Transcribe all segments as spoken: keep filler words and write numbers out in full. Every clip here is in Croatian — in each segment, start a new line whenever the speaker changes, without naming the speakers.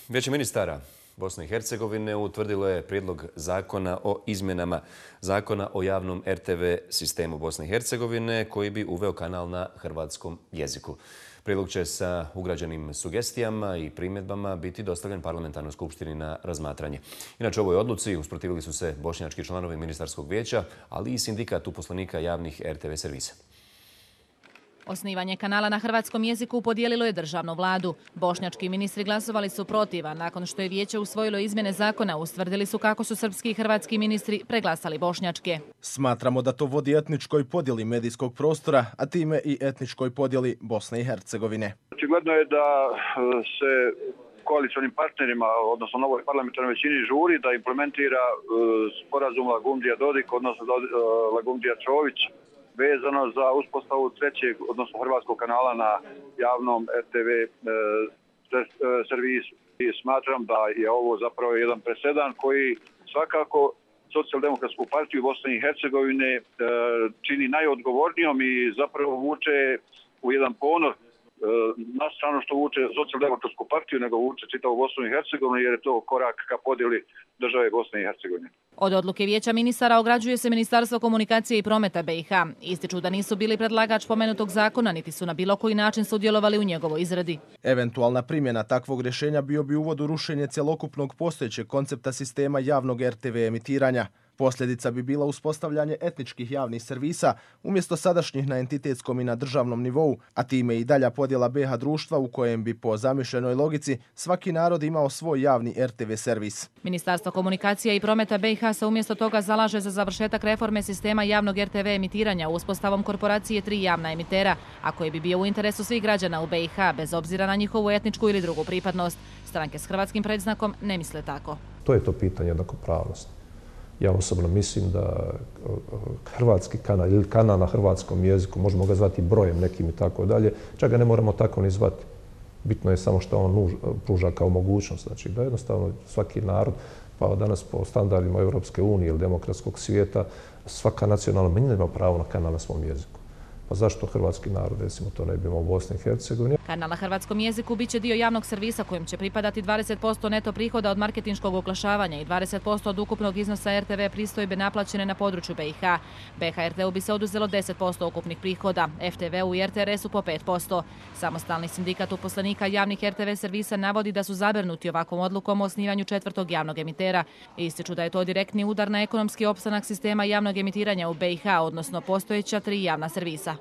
Vijeće ministara Bosne i Hercegovine utvrdilo je prijedlog zakona o izmjenama zakona o javnom er te ve sistemu Bosne i Hercegovine koji bi uveo kanal na hrvatskom jeziku. Prijedlog će sa ugrađenim sugestijama i primjedbama biti dostavljen Parlamentarnoj skupštini na razmatranje. Inače, ovoj odluci usprotivili su se bošnjački članovi ministarskog vijeća, ali i sindikat uposlenika javnih er te ve servisa.
Osnivanje kanala na hrvatskom jeziku podijelilo je državnu vladu. Bošnjački ministri glasovali su protiv, a nakon što je vijeće usvojilo izmjene zakona, ustvrdili su kako su srpski i hrvatski ministri preglasali bošnjačke.
Smatramo da to vodi etničkoj podjeli medijskog prostora, a time i etničkoj podjeli Bosne i Hercegovine.
Očigledno je da se koalicionim partnerima, odnosno novoj parlamentarnoj većini, žuri da implementira sporazum Lagundija-Dodik, odnosno Lagundija-Čović, vezano za uspostavu trećeg, odnosno hrvatskog kanala na javnom er te ve servisu. I smatram da je ovo zapravo jedan presedan koji svakako Socijaldemokratsku partiju Bosne i Hercegovine čini najodgovornijom i zapravo vuče u jedan ponor, na stranu što vuče Socijaldemokratsku partiju, nego vuče čitavu Bosnu i Hercegovinu, jer je to korak ka podjeli države Bosne i Hercegovine.
Od odluke vijeća ministara ograđuje se Ministarstvo komunikacije i prometa be i ha. Ističu da nisu bili predlagač pomenutog zakona, niti su na bilo koji način sudjelovali u njegovoj izradi.
Eventualna primjena takvog rješenja bio bi uvod u rušenje cjelokupnog postojećeg koncepta sistema javnog er te ve emitiranja. Posljedica bi bila uspostavljanje etničkih javnih servisa umjesto sadašnjih na entitetskom i na državnom nivou, a time i dalja podjela be ha društva u kojem bi po zamišljenoj logici svaki narod imao svoj javni er te ve servis.
Ministarstvo komunikacije i prometa be i ha se umjesto toga zalaže za završetak reforme sistema javnog er te ve emitiranja uspostavom korporacije tri javna emitera, a koji bi bio u interesu svih građana u be i ha, bez obzira na njihovu etničku ili drugu pripadnost. Stranke s hrvatskim predznakom ne misle tako.
To je to pitanje jednakopravnosti. Ja osobno mislim da hrvatski kanal ili kanal na hrvatskom jeziku, možemo ga zvati brojem nekim i tako dalje, čak ga ne moramo tako ni zvati. Bitno je samo što on nuž, pruža kao mogućnost. Znači da jednostavno svaki narod, pa danas po standardima Europske unije ili demokratskog svijeta, svaka nacionalna manjina ima pravo na kanal na svom jeziku. Pa zašto hrvatski narod, recimo, to ne bi imao u Bosni i Hercegovini?
Kanal na hrvatskom jeziku bit će dio javnog servisa kojim će pripadati dvadeset posto neto prihoda od marketinškog oglašavanja i dvadeset posto od ukupnog iznosa er te ve pristojbe naplaćene na području be i ha. be ha er te u bi se oduzelo deset posto ukupnih prihoda, ef te ve u i er te er esu po pet posto. Samostalni sindikat uposlenika javnih er te ve servisa navodi da su zabrinuti ovakvom odlukom o osnivanju četvrtog javnog emitera. Ističu da je to direktni udar na ekonomski opstanak sistema javnog emitiranja u be i ha, odnosno postojeća tri javna servisa.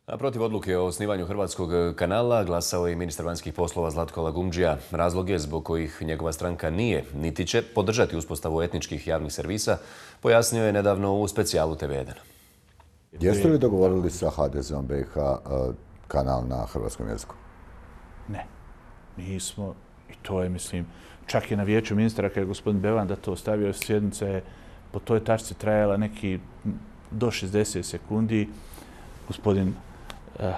A protiv odluke o osnivanju hrvatskog kanala glasao je i ministar vanjskih poslova Zlatko Lagundžija. Razloge zbog kojih njegova stranka nije niti će podržati uspostavu etničkih javnih servisa pojasnio je nedavno u specijalu te ve jedan.
Jeste li dogovorili sa ha de zeom be i ha kanal na hrvatskom jeziku?
Ne, nismo. I to je, mislim, čak i na vijeću ministara kada je gospodin Bevan da to stavio, sjednica je po toj tačci trajala neki do šezdeset sekundi. Gospodin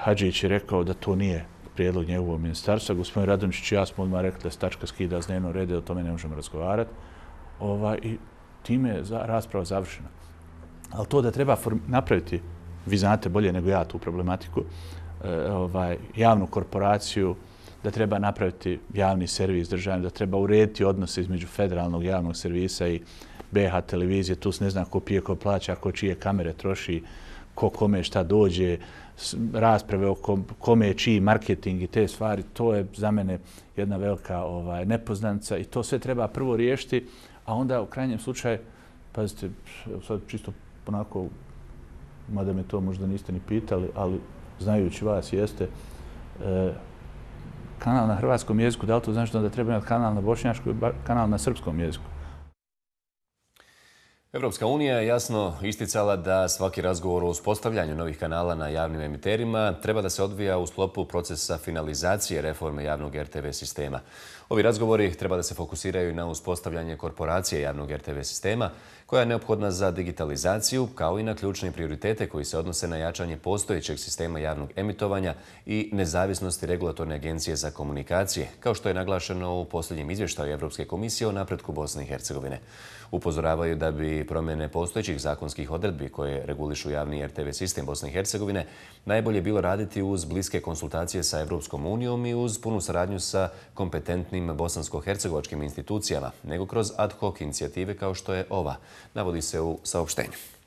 Hadžić je rekao da to nije prijedlog njegovog ministarstva. Gospodin Radončić i ja smo odmah rekli da se tačka skida s dnevnog reda, o tome ne možemo razgovarati. Ova, I time je za, rasprava završena. Ali to da treba napraviti, vi znate bolje nego ja tu problematiku, e, ovaj, javnu korporaciju, da treba napraviti javni servis državni, da treba urediti odnose između federalnog javnog servisa i be ha televizije. Tu se ne zna ko pije, ko plaća, ko čije kamere troši, ko kome šta dođe, rasprave o kome je čiji marketing i te stvari, to je za mene jedna velika ovaj, nepoznanica i to sve treba prvo riješiti, a onda u krajnjem slučaju, pazite, sad čisto onako, mada me to možda niste ni pitali, ali znajući vas jeste, e, kanal na hrvatskom jeziku, da li to znači da treba imati kanal na bošnjačkom i kanal na srpskom jeziku?
Evropska unija je jasno isticala da svaki razgovor o uspostavljanju novih kanala na javnim emiterima treba da se odvija u sklopu procesa finalizacije reforme javnog er te ve sistema. Ovi razgovori treba da se fokusiraju na uspostavljanje korporacije javnog er te ve sistema koja je neophodna za digitalizaciju, kao i na ključne prioritete koji se odnose na jačanje postojećeg sistema javnog emitovanja i nezavisnosti regulatorne agencije za komunikacije, kao što je naglašeno u posljednjem izvještaju Evropske komisije o napretku Bosne i Hercegovine. Upozoravaju da bi promjene postojećih zakonskih odredbi koje regulišu javni er te ve sistem Bosne i Hercegovine najbolje bilo raditi uz bliske konsultacije sa Evropskom unijom i uz punu saradnju sa kompetentnim bosansko-hercegovačkim institucijama, nego kroz ad hoc inicijative kao što je ova, navodi se u saopštenju.